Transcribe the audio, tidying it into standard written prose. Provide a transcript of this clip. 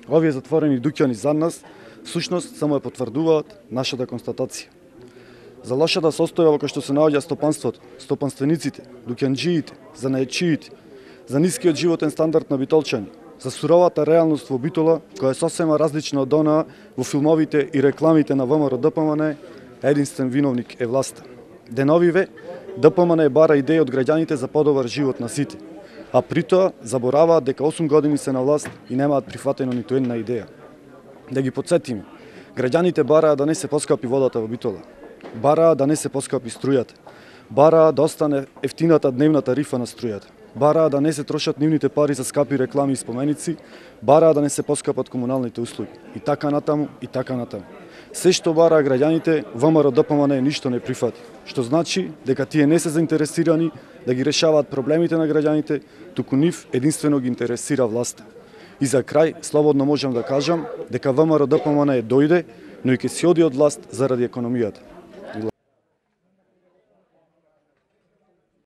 Овие затворени дуќани за нас, всушност само ја потврдуваат нашата констатација. За лошата состојба во која што се наоѓа стопанството, стопанствениците, дуќанџиите, занаетчиите, за нискиот животен стандард на битолчани, за суровата реалност во Битола, која е сосема различна од онаа во филмовите и рекламите на ВМРО-ДПМН, единствен виновник е власта. Деновиве, ДПМН бара идеи од граѓаните за подобар живот на сите, а при тоа забораваат дека 8 години се на власт и немаат прифатено ниту една идеја. Да ги потсетиме, граѓаните бараа да не се поскапи водата во Битола, бараа да не се поскапи струјата, бараа да остане ефтината дневна тарифа на струјата, бараа да не се трошат нивните пари за скапи реклами и споменици, бараа да не се поскапат комуналните услуги. И така натаму, и така натаму. Се што бараа граѓаните, ВМРО-ДПМН ништо не прифати, што значи дека тие не се заинтересирани да ги решаваат проблемите на граѓаните, туку нив единствено ги интересира власта. И за крај, слободно можам да кажам дека ВМРО-ДПМН дојде, но и ќе си оди од власт заради економијата.